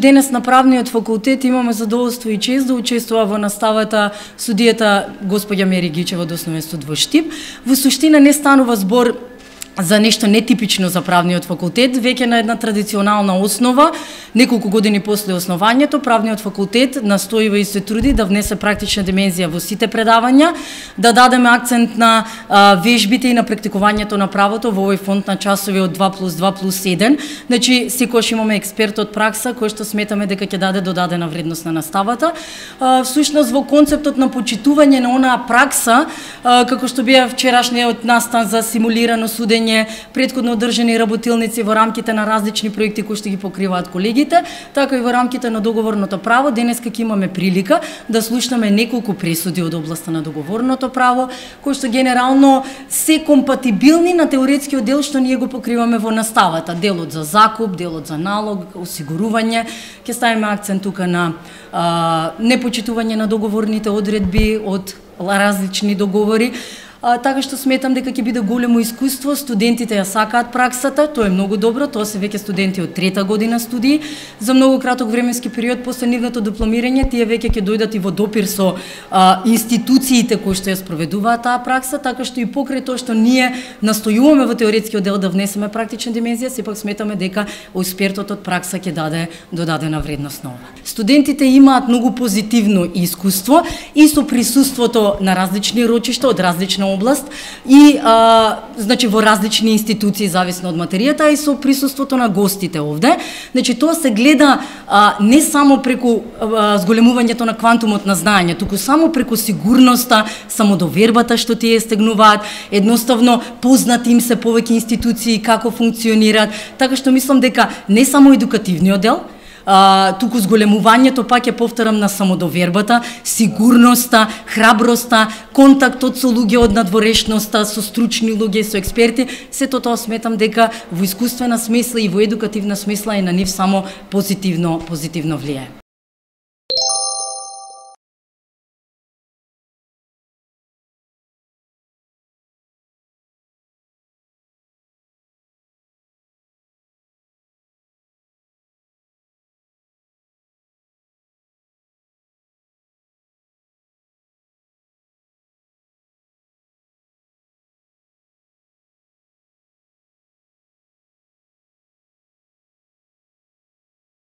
Денес на правниот факултет имаме задоволство и чест да учествува во наставата судијата госпоѓа Мери Гичева од Основен суд во Штип. Во суштина не станува збор за нешто нетипично за правниот факултет, веќе на една традиционална основа, неколку години после основањето, правниот факултет настојува и се труди да внесе практична димензија во сите предавања, да дадеме акцент на вежбите и на практикувањето на правото во овој фонд на часови од 2+2+1. Значи, секогаш имаме експерт од пракса кој што сметаме дека ќе даде додадена вредност на наставата. Всушност во концептот на почитување на онаа пракса, како што бија вчерашниот настан за симулирано судење, претходно одржани работилници во рамките на различни проекти кои што ги покриваат колегите, така и во рамките на договорното право, денеска ќе имаме прилика да слушнеме неколку пресуди од областа на договорното право, кои што генерално се компатибилни на теоретскиот дел што ние го покриваме во наставата, делот за закуп, делот за налог, осигурување. Ќе ставиме акцент тука на непочитување на договорните одредби од различни договори. Така што сметам дека ќе биде големо искуство, студентите ја сакаат праксата, тоа е многу добро, тоа се веќе студенти од трета година студии. За многу краток временски период после нивното дипломирање, тие веќе ќе дојдат и во допир со институциите кои што ја спроведуваат таа пракса, така што и покрај тоа што ние настојуваме во теоретскиот дел да внесеме практична димензија, сепак сметаме дека експертот од пракса ќе даде додадена вредност на ова. Студентите имаат многу позитивно искуство и со присуството на различни рочишта од различна област и значи во различни институции зависно од материјата и со присуството на гостите овде. Значи тоа се гледа не само преку зголемувањето на квантумот на знаење, туку само преку сигурноста, самодовербата што тие стегнуваат, едноставно познати им се повеќе институции како функционираат, така што мислам дека не само едукативниот дел, туку зголемувањето, пак ќе повторам, на самодовербата, сигурноста, храброста, контактот со луѓе од надворешноста, со стручни луѓе, со експерти, сето тоа сметам дека во искуствена смисла и во едукативна смисла и на нив само позитивно влијае.